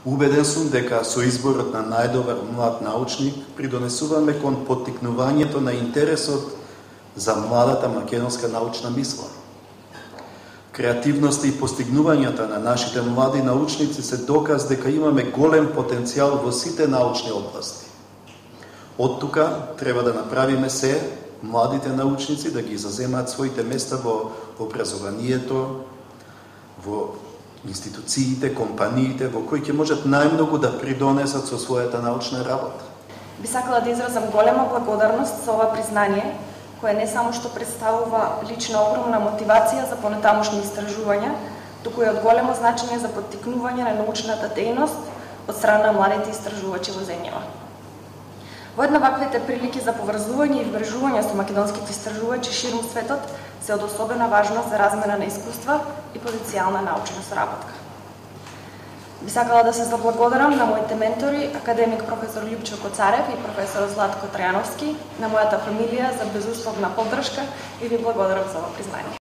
Убеден сум дека со изборот на најдобар млад научник придонесуваме кон поттикнувањето на интересот за младата македонска научна мисла. Креативноста и постигнувањата на нашите млади научници се доказ дека имаме голем потенцијал во сите научни области. Од тука треба да направиме се младите научници да ги заземаат своите места во образованието, во институциите, компаниите, во кои ќе можат најмногу да придонесат со својата научна работа. Би сакала да изразам голема благодарност за ова признание, кое не само што представува лична огромна мотивација за понатамошни истражувања, туку и од големо значење за поттикнување на научната дејност од страна на младите истражувачи во земјава. Воедно ваквите прилики за поврзување и вмрежување со македонските истражувачи ширум светот се од особена важност за размена на искуства и потенцијална научна соработка. Би сакала да се заблагодарам на моите ментори, академик професор Љупчо Коцарев и професор Златко Трајановски, на мојата фамилија за безусловна поддршка и ви благодарам за ова признание.